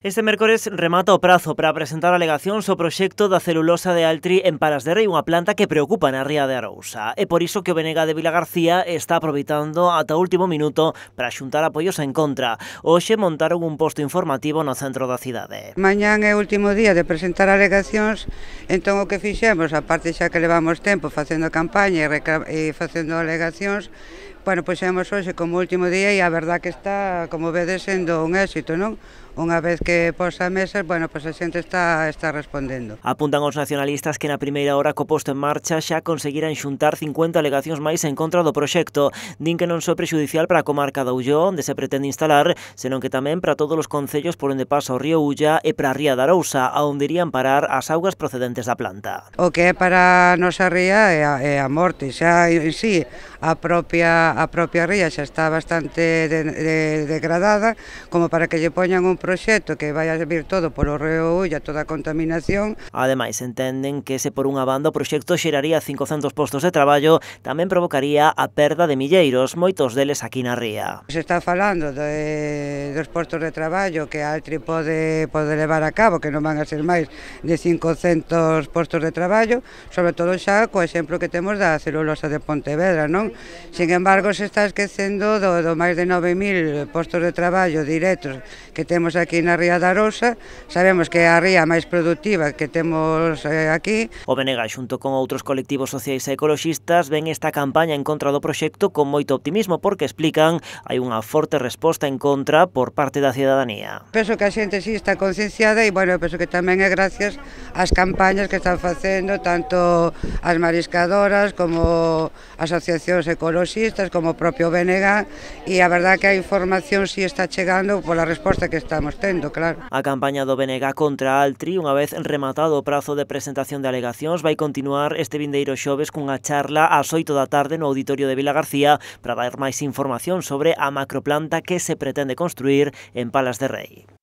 Este mércores remata o prazo para presentar alegacións ao proxecto da celulosa de Altri en Palas de Rei, unha planta que preocupa na ría de Arousa. É por iso que o BNG de Vilagarcía está aproveitando ata o último minuto para xuntar apoios en contra. Hoxe montaron un posto informativo no centro da cidade. Mañán é o último día de presentar alegacións, entón o que fixemos, a parte xa que levamos tempo facendo campaña e facendo alegacións, puxemos hoxe como último día e a verdad que está, como vedes, sendo un éxito, non? Unha vez que posa a mesa, a xente está respondendo. Apuntan os nacionalistas que na primeira hora co posto en marcha xa conseguiran xuntar 50 alegacións máis en contra do proxecto. Din que non só prexudicial para a comarca da Ulló, onde se pretende instalar, senón que tamén para todos os concellos por onde pasa o río Ulla e para a ría de Arousa, a onde irían parar as augas procedentes da planta. O que é para a nosa ría é a morte, xa en sí a propia ría xa está bastante degradada, como para que lle poñan un proxecto que vai a vir todo polo río Ulla, toda a contaminación. Ademais, entenden que se por unha banda o proxecto xeraría 500 postos de traballo, tamén provocaría a perda de milleiros, moitos deles aquí na ría. Se está falando dos postos de traballo que Altri pode levar a cabo, que non van a ser máis de 500 postos de traballo, sobre todo xa co exemplo que temos da celulosa de Pontevedra, non? Sin embargo, se está esquecendo do máis de 9.000 postos de traballo directos que temos aquí na ría de Arousa. Sabemos que é a ría máis productiva que temos aquí. O BNG, xunto con outros colectivos sociais e ecoloxistas, ven esta campaña en contra do proxecto con moito optimismo porque, explican, hai unha forte resposta en contra por parte da cidadanía. Penso que a xente sí está concienciada e, penso que tamén é gracias ás campañas que están facendo tanto as mariscadoras como asociacións ecoloxistas como o propio BNG, e a verdad que a información sí está chegando pola resposta que estamos tendo, claro. A campaña do BNG contra Altri, unha vez rematado o prazo de presentación de alegacións, vai continuar este vindeiro xoves cunha charla ás 8 da tarde no auditorio de Vilagarcía para dar máis información sobre a macroplanta que se pretende construir en Palas de Rei.